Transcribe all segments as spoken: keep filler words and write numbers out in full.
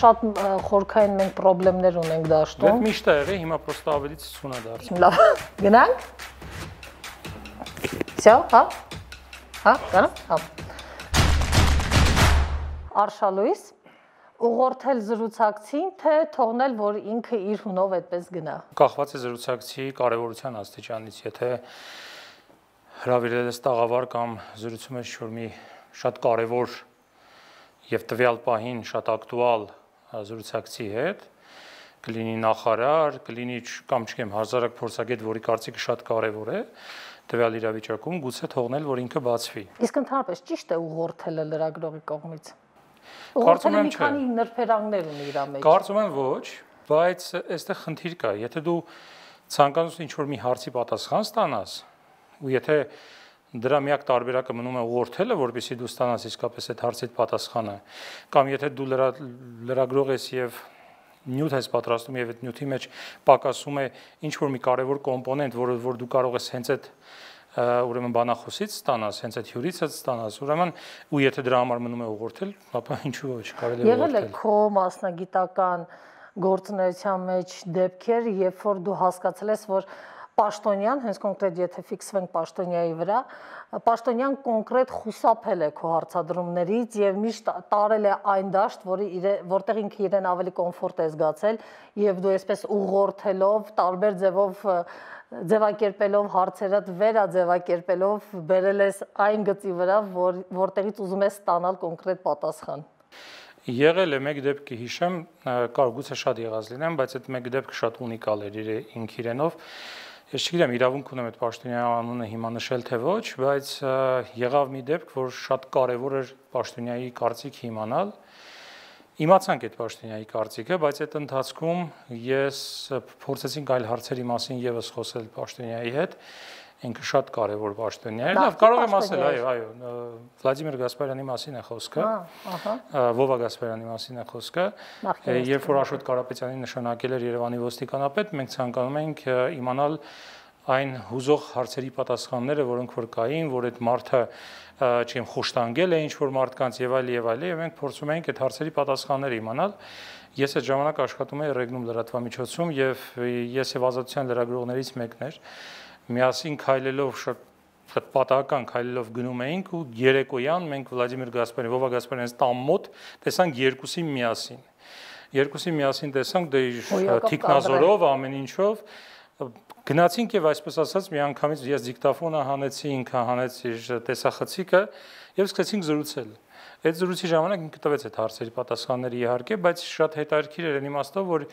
շատ խորքային մենք պրոբլեմներ ունենք դաշտում։ Դա միշտ է եղել, հիմա պրոստը ավելի ցցուն է դարձել։ Լավ, գնանք։ Всё, հա։ Հա, գնա՞մ։ Հա։ Արշալույս, ուղղորդել զրուցակցին, թե թողնել, որ ինքը իր հունով այդպես գնա։ Կախված է զրուցակցի կարևորության աստիճանից, եթե հրավիրել ես տաղավար կամ զրուցում ես ինչ-որ մի շատ կարևոր եւ տվյալ պահին շատ ակտուալ զրուցակցի հետ, կլինի նախարար, կլինի կամ չգիտեմ հազարակ փորձագետ, որի կարծիքը շատ կարևոր է, տվյալ իրավիճակում գուցե թողնել, որ ինքը բացվի։ Իսկ ընդհանրապես ճիշտ է ուղղորդելը լրագրողի կողմից։ Կարծում եմ մի քանի նրբերանգներ ունի իր մեջ։ Կարծում եմ ոչ, բայց այստեղ խնդիր կա, եթե դու ցանկանում ես ինչ-որ մի հարցի պատասխան ստանաս, ու եթե դրա միակ տարբերակը մնում է ուղղորդելը, որպեսզի դու ստանաս իսկապես այդ հարցի պատասխանը, կամ եթե դու լրագրող ես եւ նյութ ես պատրաստում եւ այդ նյութի մեջ պակասում է ինչ-որ մի կարևոր կոմպոնենտ, որը որ դու կարող ես հենց այդ ուրեմն բանախոսից ստանաս, հենց այդ հյուրից ստանաս, ուրեմն ու եթե դրա համար մնում է ուղղորդել, ապա ինչու ոչ, կարելի է ուղղորդել։ Եղել է քո մասնագիտական գործունեության մեջ դեպքեր, երբ որ դու հասկացել ես, որ պաշտոնյան, հենց կոնկրետ եթե ֆիքսվենք պաշտոնյայի վրա, պաշտոնյան կոնկրետ խուսափել է քո հարցադրումներից եւ միշտ տարել է այն դաշտ, որի որտեղ ինքը իրեն ավելի կոմֆորտ է զգացել եւ դու այսպես ուղղորդելով, տարբեր ձևով ձևակերպելով հարցերդ վերաձևակերպելով բերել ես այն գծի վրա, որ որտեղից ուզում ես ստանալ կոնկրետ պատասխան։ Եղել է մեկ դեպք հիշեմ, կարող գուցե շատ եղած լինեմ, բայց այդ մեկ դեպքը շատ ունիկալ էր ինք իրենով։ Ես չգիտեմ իրավունք ունեմ այդ պաշտոնյայի անունը հիմա նշել թե ոչ, բայց եղավ մի դեպք, որ շատ կարևոր էր պաշտոնյայի կարծիքը իմանալ։ Իմացանք այդ պաշտոնյայի կարծիքը, բայց այդ ընթացքում ես փորձեցինք այլ հարցերի մասին եւս խոսել պաշտոնյայի հետ։ Ինքը շատ կարևոր պաշտոնյա էր։ Լավ, կարող եմ ասել, այո, այո, Վլադիմիր Գասպարյանի մասին է խոսքը։ Ահա։ Վովա Գասպարյանի մասին է խոսքը։ Երբ որ Աշոտ Կարապետյանի նշանակել էր Երևանի ոստիկանապետ, մենք ցանկանում էինք իմանալ այն հուզող հարցերի պատասխանները, որոնք որ կային, որ այդ մարդը չեմ խոշտանգել է ինչ-որ մարդկանց եւ այլ եւ այլ, եւ մենք փորձում էինք այդ հարցերի պատասխանները իմանալ։ Ես այդ ժամանակ աշխատում էի Ռեգնում լրատվամիջոցում եւ ես եւ ազատության լրագրողներից մեկն էր։ Միասին քայլելով շատ պատահական քայլելով գնում էինք ու երեկոյան մենք Վլադիմիր Գասպարյան, Վովա Գասպարյանից տան մոտ տեսանք երկուսին միասին։ Երկուսին միասին տեսանք դե թիկնազորով, ամեն ինչով գնացինք եւ այսպես ասած մի անգամից ես դիկտաֆոնը հանեցի, ինքը հանեց իր տեսախցիկը եւ սկսեցինք զրուցել։ Այդ զրույցի ժամանակ ինքը տվեց այդ հարցերի պատասխանները իհարկե, բայց շատ հետաքրքիր էր այն իմաստով, որ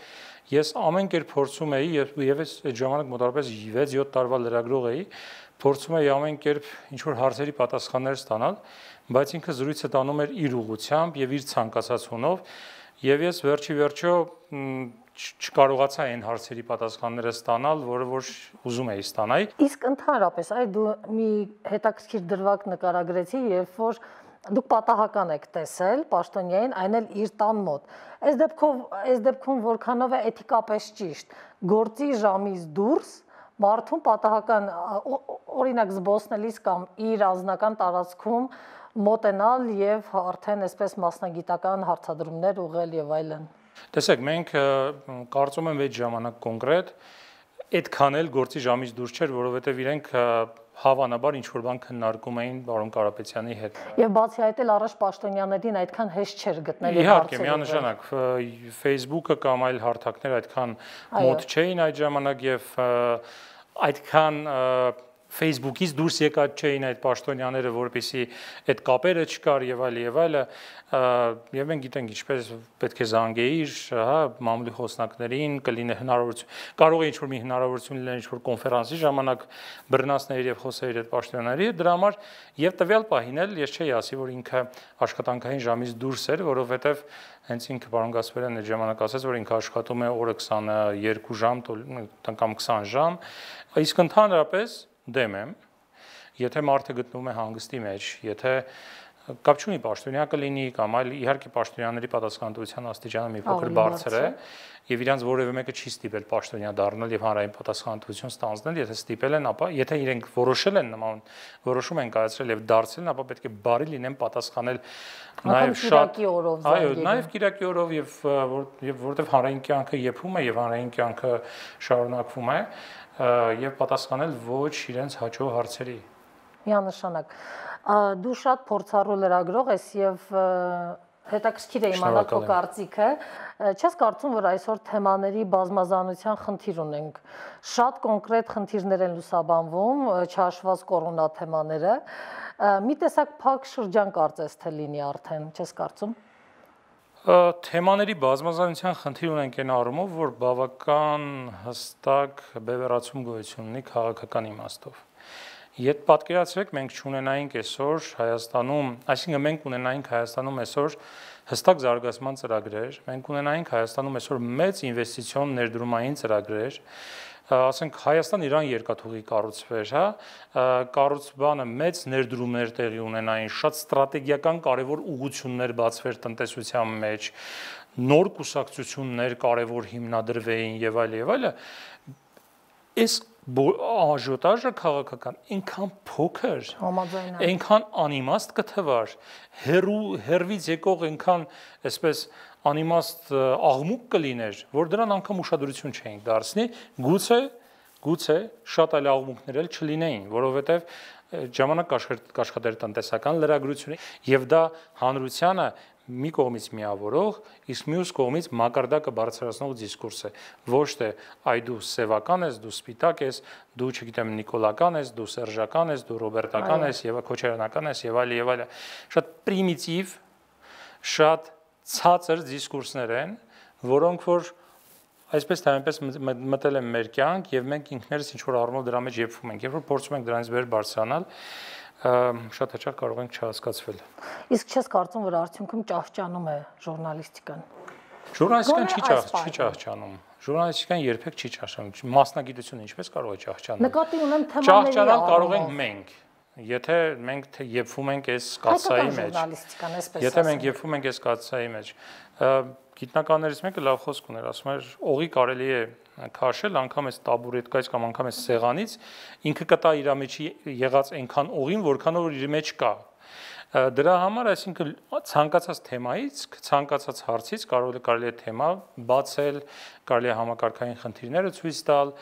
ես ամեն կերպ փորձում էի եւ եւս այդ ժամանակ մոտավորապես վեց-յոթ տարվա լրագրող էի, փորձում էի ամեն կերպ ինչ որ հարցերի պատասխաններ ստանալ, բայց ինքը զրույցը տանում էր իր ուղղությամբ եւ իր ցանկացած հունով եւ ես վերջի վերջո չկարողացա այն հարցերի պատասխանները ստանալ, որը որ ուզում էի ստանալ։ Իսկ ընդհանրապես այ դու մի հետաքրքիր դրվագ նկարագրեցի, երբ որ դուք պատահական եք տեսել պաշտոնյային, այն էլ իր տան մոտ։ Այս դեպքով, այս դեպքում որքանով է էթիկապես ճիշտ, գործի ժամից դուրս մարդուն պատահական օրինակ զբոսնելիս կամ իր անձնական տարածքում մոտենալ եւ արդեն այսպես մասնագիտական հարցադրումներ ուղղել եւ այլն։ Տեսեք, մենք կարծում եմ այդ ժամանակ կոնկրետ այդքան էլ գործի ժամից դուրս չէր, որովհետեւ իրենք հավանաբար ինչ-որ բան քննարկում էին պարոն Կարապետյանի հետ։ Եվ բացի այդ էլ առաջ պաշտոնյաներին այդքան հեշտ չէր գտնել հարցերը։ Իհարկե, միանշանակ Facebook-ը կամ այլ հարթակներ այդքան մոտ չէին այդ ժամանակ եւ այդքան Facebook-ից դուրս եկած չէին այդ պաշտոնյաները, որպեսզի այդ կապերը չկար եւ այլ եւ այլը, եւ մենք գիտենք ինչպես պետք է զանգեիր, հա, մամուլի խոսնակներին, կլինի հնարավորություն, կարող է ինչ-որ մի հնարավորություն լինել ինչ-որ կոնֆերանսի ժամանակ բռնացներ եւ խոսեիր այդ պաշտոնյաների, դրա համար եւ տվյալ պահին էլ ես չէի ասի, որ ինքը աշխատանքային ժամից դուրս էր, որովհետեւ հենց ինքը պարոն Գասպարյանն այդ ժամանակ ասաց, որ ինքը աշխատում է օրը քսաներկու ժամ կամ քսան ժամ, իսկ ընդհանրապես դեմ եմ, եթե մարդը գտնվում է հանգստի մեջ, եթե կապ չունի պաշտոնյա կլինի կամ այլ իհարկե պաշտոնյաների պատասխանատվության աստիճանը մի փոքր բարձր է եւ իրանց որևէ մեկը չի ստիպել պաշտոնյա դառնալ եւ հանրային պատասխանատվություն ստանձնել, եթե ստիպել են, ապա եթե իրենք որոշել են նման որոշում են կայացրել եւ դարձել, ապա պետք է բարի լինեն պատասխանել նաեւ շատ այո, նաեւ Կիրակի օրով եւ եւ որովհետեւ հանրային կյանքը եփում է եւ հանրային կյանքը շարունակվում է եւ պատասխանել ոչ իրենց հաջող հարցերի։ Միանշանակ դու շատ փորձառու լրագրող ես եւ հետաքրքիր է իմանալ քո կարծիքը, չես կարծում, որ այսօր թեմաների բազմազանության խնդիր ունենք, շատ կոնկրետ խնդիրներ են լուսաբանվում, չհաշված կորոնա թեմաները, մի տեսակ փակ շրջան կարծես թե լինի արդեն, չես կարծում։ Թեմաների բազմազանության խնդիր ունենք այն առումով, որ բավական հստակ բևեռացում գոյություն ունի քաղաքական իմաստով։ Եթե պատկերացրեք, մենք չունենայինք այսօր Հայաստանում, այսինքն մենք ունենայինք Հայաստանում այսօր հստակ զարգացման ծրագրեր, մենք ունենայինք Հայաստանում այսօր մեծ ինվեստիցիոն ներդրումային ծրագրեր, ասենք Հայաստան-Իրան երկաթուղի կառուցվեր, հա, կառուցbանը մեծ ներդրումներ տեղի ունենային, շատ ստրատեգիական կարևոր ուղղություններ բացվեր տնտեսության մեջ, նոր կուսակցություններ կարևոր հիմնադրվեին եւ այլ եւ այլը, այս աժոտաժը քաղաքական այնքան փոքր, այնքան անիմաստ կթվար, հերու հերվից եկող այնքան այսպես անիմաստ աղմուկ կլիներ, որ դրան անգամ ուշադրություն չէին դարձնի, գուցե գուցե շատ այլ աղմուկներ էլ չլինեին, որովհետև ժամանակ կաշխատեր տնտեսական լրագրությունը եւ դա հանրությանը մի կողմից միավորող, իսկ մյուս կողմից մակարդակը բարձրացնող դիսկուրս է, ոչ թե այ դու սևական ես, դու սպիտակ ես, դու չգիտեմ նիկոլական ես, դու սերժական ես, դու ռոբերտական ես եւ քոչարանական ես եւ այլ եւ այլ, շատ պրիմիտիվ, շատ ցածր դիսկուրսներ են, որոնք որ այսպես թե այնպես մտել են մեր կյանք եւ մենք ինքներս ինչ որ առումով դրա մեջ եփվում ենք, երբ որ փորձում ենք դրանից վեր բարձրանալ, շատ հաճախ կարող ենք չհասկացվել։ Իսկ չես կարծում, որ արդյունքում ճահճանում է ժուրնալիստիկան։ Ժուրնալիստիկան չի չի ճահճանում։ Ժուրնալիստիկան երբեք չի ճահճանում։ Մասնագիտությունը ինչպես կարող է ճահճանալ։ Նկատի ունեմ թեմաների ճահճանալ կարող ենք մենք։ Եթե մենք թե եփվում ենք այս կաթսայի մեջ, եթե մենք եփվում ենք այս կաթսայի մեջ, գիտնականներից մեկը լավ խոսք ուներ, ասում էր, օղի կարելի է քաշել անգամ այս տաբուրետկայից կամ անգամ այս սեղանից, ինքը կտա իր մեջի եղած այնքան օղին, որքան որ իր մեջ կա։ Դրա համար, այսինքն ցանկացած թեմայից, ցանկացած հարցից կարող է կարելի է թեմա բացել, կարելի է համակարգային խնդիրները ցույց տալ,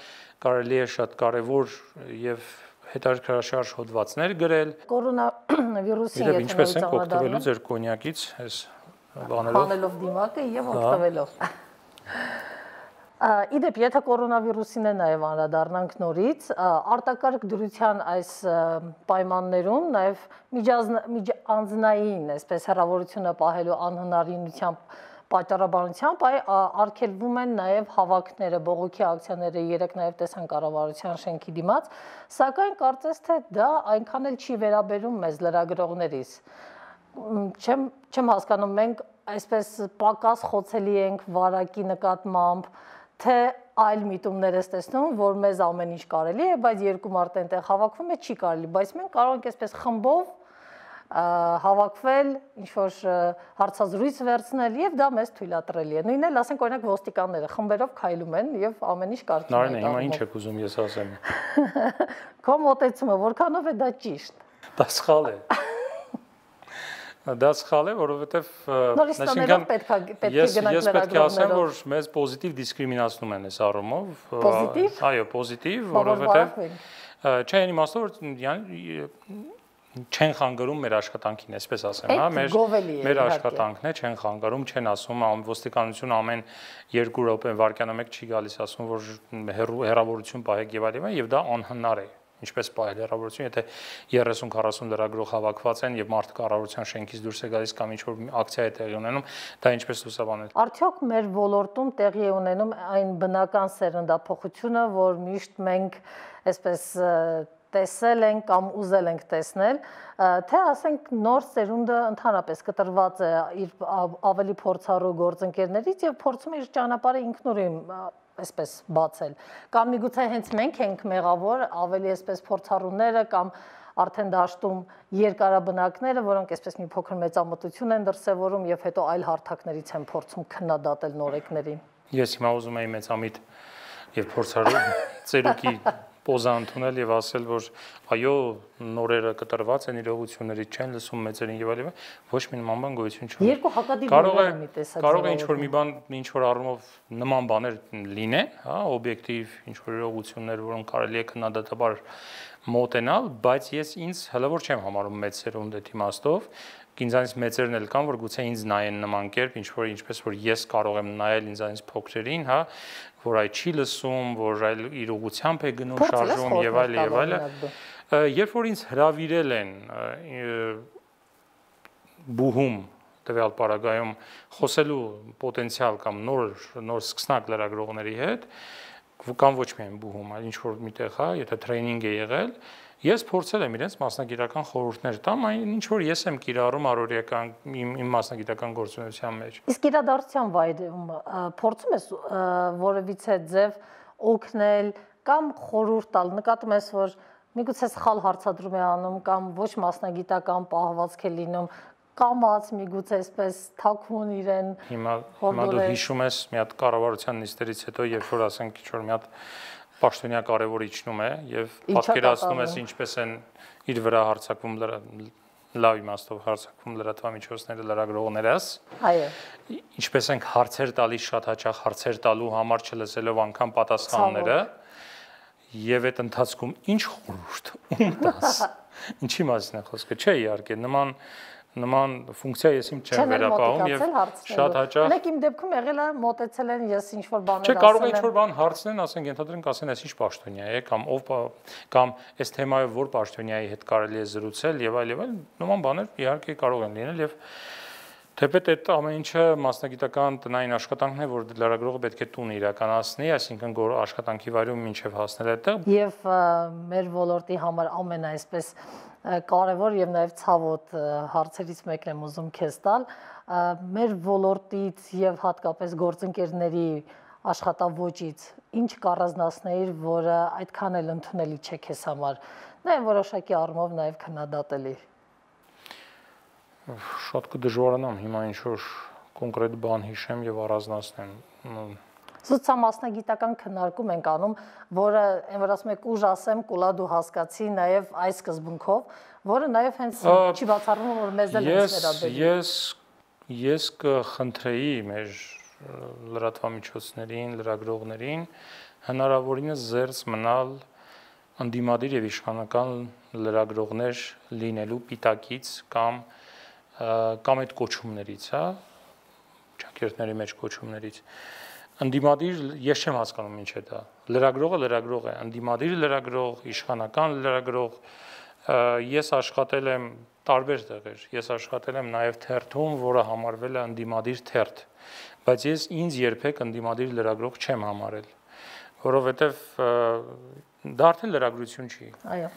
կարելի է շատ կարևոր եւ հետաքրքրաշարժ հոդվածներ գրել։ Կորոնավիրուսի եթե ինչպես ենք օգտվելու ձեր կոնյակից, այս բաներով, բանելով դիմակը եւ օգտվելով։ Իդեպ, եթե կորոնավիրուսին է նաև անդրադառնանք նորից, արտակարգ դրության այս պայմաններում նաև միջանձնային, այսպես հեռավորությունը պահելու անհնարինությամբ պատճառաբանությամբ արգելվում են նաև հավաքները, բողոքի ակցիաները, երեք նաև տեսան կառավարության շենքի դիմաց, սակայն կարծես թե դա այնքան էլ չի վերաբերում մեզ լրագրողներից։ Չեմ չեմ հասկանում, մենք այսպես պակաս խոցելի ենք վարակի նկատմամբ, թե այլ միտումներ ես տեսնում, որ մեզ ամեն ինչ կարելի է, բայց երկու մարդ այնտեղ հավաքվում է, չի կարելի, բայց մենք կարող ենք այսպես խմբով հավաքվել, ինչ-որ հարցազրույց վերցնել եւ դա մեզ թույլատրելի է։ Նույնն էլ, ասենք, օրինակ ոստիկանները խմբերով քայլում են եւ ամեն ինչ կարգին է։ Նարինե, հիմա ինչ եք ուզում ես ասեմ։ Քո մոտեցումը որքանով է դա ճիշտ։ Դա սխալ է։ Դա սխալ է, որովհետեւ այսինքն պետք է պետք է գնանք ես պետք է ասեմ, որ մեզ պոզիտիվ դիսկրիմինացնում են այս առումով։ Պոզիտիվ։ Այո, պոզիտիվ, որովհետեւ չէ, այն իմաստով որ չեն խանգարում մեր աշխատանքին, այսպես ասեմ, հա, մեր մեր աշխատանքն է, չեն խանգարում, չեն ասում, ոստիկանությունը ամեն երկու րոպե վայրկյանը մեկ չի գալիս ասում, որ հեռավորություն պահեք եւ այլն, եւ դա անհնար է։ Ինչպես պահել հեռավորություն, եթե երեսուն քառասուն լրագրող հավաքված են եւ մարդը կառավարության շենքից դուրս է գալիս կամ ինչ-որ ակցիա է տեղի ունենում, դա ինչպես լուսաբանել։ Արդյոք մեր ոլորտում տեղի է ունենում այն բնական սերնդափոխությունը, որ միշտ մենք այսպես տեսել ենք կամ ուզել ենք տեսնել, թե ասենք նոր սերունդը ընդհանրապես կտրված է իր ավելի փորձառու գործընկերներից եւ փորձում է իր ճանապարհը ինքնուրույն այսպես բացել, կամ միգուցե հենց մենք ենք մեղավոր, ավելի այսպես փորձառուները կամ արդեն դաշտում երկարաբնակները, որոնք այսպես մի փոքր մեծամտություն են դրսևորում եւ հետո այլ հարթակներից են փորձում քննադատել նորեկներին։ Ես հիմա ուզում եի մեծամիտ եւ փորձառու ծերուկի պոզա ընդունել եւ ասել, որ այո, նորերը կտրված են իրողություններից, չեն լսում մեծերին եւ այլն, ոչ մի նման բան գոյություն չունի։ Երկու հակադիր կարող է կարող է ինչ որ մի բան, ինչ որ առումով նման բաներ լինեն, հա, օբյեկտիվ ինչ որ իրողություններ, որոնք կարելի է քննադատաբար մոտենալ, բայց ես ինձ հլավոր չեմ համարում մեծ սերունդ այդ իմաստով, ինձանից մեծերն էլ կան, որ գուցե ինձ նայեն նման կերպ, ինչ որ ինչպես որ ես կարող եմ նայել ինձանից փոքրերին, հա, որ այ չի լսում, որ այլ իր ուղությամբ է գնում, շարժում եւ այլ եւ այլ։ Երբ որ ինձ հրավիրել են բուհում տվյալ պարագայում խոսելու պոտենցիալ կամ նոր նոր սկսնակ լրագրողների հետ, կամ ոչ միայն բուհում, այլ ինչ որ միտեղ, հա, եթե տրեյնինգ է եղել, ես փորձել եմ իրենց մասնագիտական խորհուրդներ տամ, այն ինչ որ ես եմ կիրառում առօրյական իմ, իմ մասնագիտական գործունեության մեջ։ Իսկ իրադարձության վայրում փորձում ես որևիցե ձև օգնել կամ խորհուրդ տալ, նկատում ես, որ միգուցե սխալ հարցադրում է անում կամ ոչ մասնագիտական պահվածք է լինում, կամած միգուցե այսպես թաքուն իրեն։ Հիմա հիմա դու հիշում ես մի հատ կառավարության նիստերից հետո, երբ որ ասենք ինչ որ մի հատ պաշտոնյա կարևոր իջնում է եւ պատկերացնում ես ինչպես են իր վրա հարձակվում լավ իմաստով հարձակվում լրատվամիջոցները լրագրողներս, այո, ինչպես ենք հարցեր տալիս շատ հաճախ հարցեր տալու համար չլսելով անգամ պատասխանները եւ այդ ընթացքում ինչ խորհուրդ ում տաս, ինչի մասին է խոսքը, չէ իհարկե նման նման ֆունկցիա ես իմ չեմ վերապահում եւ շատ հաճախ Մենք իմ դեպքում եղել է մոտեցել են ես ինչ որ բաներ ասել եմ։ Չէ, կարող է ինչ որ բան հարցնեն, ասենք ենթադրենք ասեն, այս ինչ պաշտոնյա է կամ ով կամ այս թեմայով որ պաշտոնյայի հետ կարելի է զրուցել եւ այլ եւ այլ, նման բաներ իհարկե կարող են լինել եւ թեպետ այդ ամեն ինչը մասնագիտական տնային աշխատանքն է, որ լրագրողը պետք է տուն իրականացնի, այսինքն աշխատանքի վայրում մինչև հասնել այդտեղ։ Եվ մեր ոլորտի համար ամեն այսպես կարևոր եւ նաեւ ցավոտ հարցերից մեկն եմ ուզում քեզ տալ, մեր ոլորտից եւ հատկապես գործընկերների աշխատավոճից ինչ կառանձնացնեիր, որը այդքան էլ ընդունելի չէ քեզ համար, նաեւ որոշակի առումով նաեւ քննադատելի։ Շատ կդժվարանամ հիմա ինչ որ կոնկրետ բան հիշեմ եւ առանձնացնեմ։ Սոցիալ մասնագիտական քննարկում ենք անում, որը այն որ ասում եք ուժ ասեմ, կուլա դու հասկացի, նաեւ այս սկզբունքով, որը նաեւ հենց չի բացառվում, որ մեզ էլ հենց վերաբերի։ Ես ես կխնդրեի մեր լրատվամիջոցներին, լրագրողներին հնարավորինս զերծ մնալ անդիմադիր եւ իշխանական լրագրողներ լինելու պիտակից կամ կամ այդ կոչումներից, հա, ճակերտների մեջ կոչումներից։ Անդիմադիր ես չեմ հասկանում ինչ է դա։ Լրագրողը լրագրող է, անդիմադիր լրագրող, իշխանական լրագրող։ Ես աշխատել եմ տարբեր տեղեր։ Ես աշխատել եմ նաև թերթում, որը համարվել է անդիմադիր թերթ, բայց ես ինձ երբեք անդիմադիր լրագրող չեմ համարել, որովհետև դա արդեն լրագրություն չի։ Այո։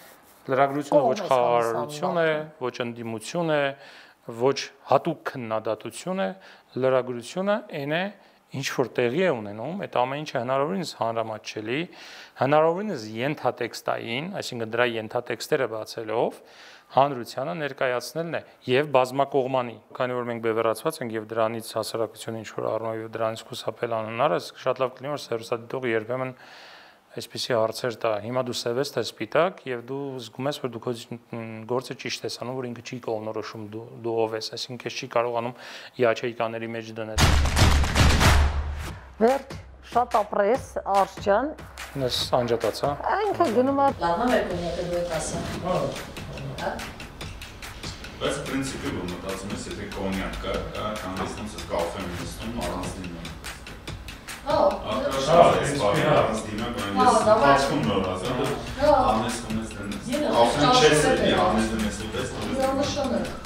Լրագրությունը ոչ խաղաղարարություն է, ոչ անդիմություն է, ոչ հատուկ քննադատություն է, լրագրությունը այն է, ինչ որ տեղի է ունենում, այդ ամեն ինչը հնարավորինս հանրամատչելի, հնարավորինս ենթատեքստային, այսինքն դրա ենթատեքստերը բացելով հանրությանը ներկայացնելն է եւ բազմակողմանի, քանի որ մենք բևեռացված ենք եւ դրանից հասարակությունը ինչ որ առնով եւ դրանից խուսափել անհնար է, շատ լավ կլինի որ սերուսադիտողը երբեմն այսպիսի հարցեր տա։ Հիմա դու սև ես, թե սպիտակ եւ դու զգում ես որ դու քո գործը ճիշտ ես անում, որ ինքը չի կողմնորոշում դու դու ով ես, այսինքն քեզ չի կարողանում յաչեյկաների մեջ դնել։ Վերջ, շատ ապրես, Արշ ջան։ Ես անջատած, հա։ Ինքը գնում է լավա մեր կոնյակը դու եք ասում։ Հա։ Բայց պրինցիպի որ մտածում ես, եթե կոնյակ կա, հանդիսնոց ես կաֆե նստում առանց դիմում։ Հա, ես բավարար առանց դիմում, ես բացքում նոր ասեմ, անես կոնես դնես։ Կաֆեն չես էլի, անես դնես ուտես։ Իրանշանը։